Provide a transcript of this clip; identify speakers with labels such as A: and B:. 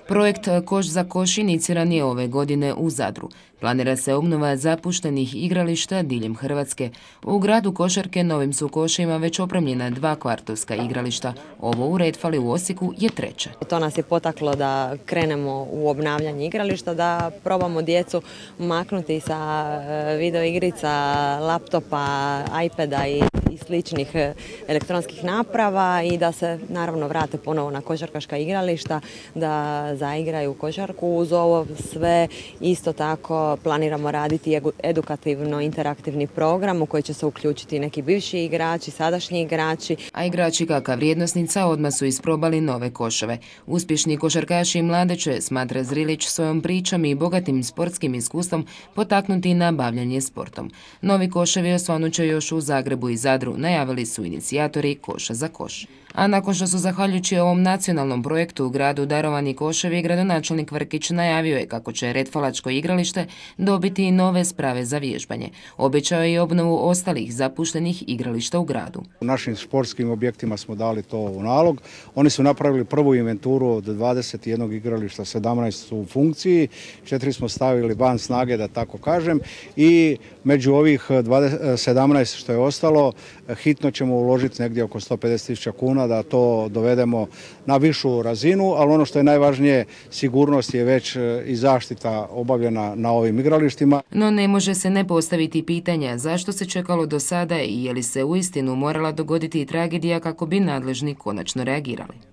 A: Projekt Koš za koš iniciran je ove godine u Zadru. Planira se obnova zapuštenih igrališta diljem Hrvatske. U gradu Košarke novim su košima već opremljena 2 kvartovska igrališta. Ovo u Redfali u Osijeku je 3.
B: To nas je potaklo da krenemo u obnavljanje igrališta, da probamo djecu maknuti sa video igrica, laptopa, iPada i sličnih elektronskih naprava i da se naravno vrate ponovo na košarkaška igrališta, da zaigraju košarku. Uz ovo sve isto tako planiramo raditi edukativno-interaktivni program u koji će se uključiti neki bivši igrači, sadašnji igrači.
A: A igrači kakva vrijednosnica odmah su isprobali nove koševe. Uspješni košarkaši i mladeće, smatra Zrilić, svojom pričom i bogatim sportskim iskustvom potaknuti na bavljanje sportom. Novi koševi osvanut će još u Zagrebu i Zadru, najavili su inicijatori Koša za koš. A nakon što su zahvaljujući ovom nacionalnom projektu u gradu darovani koševi, gradonačelnik Vrkić najavio je kako će Redfalačko igralište dobiti i nove sprave za vježbanje. Obećao je i obnovu ostalih zapuštenih igrališta u gradu.
C: U našim športskim objektima smo dali to u nalog. Oni su napravili prvu inventuru od 21 igrališta, 17 su u funkciji, 4 smo stavili van snage, da tako kažem, i među ovih 17 što je ostalo, hitno ćemo uložiti negdje oko 150.000 kuna da to dovedemo na višu razinu, ali ono što je najvažnije, sigurnost je već i zaštita obavljena na ovim igralištima.
A: No ne može se ne postaviti pitanja zašto se čekalo do sada i je li se uistinu morala dogoditi tragedija kako bi nadležni konačno reagirali.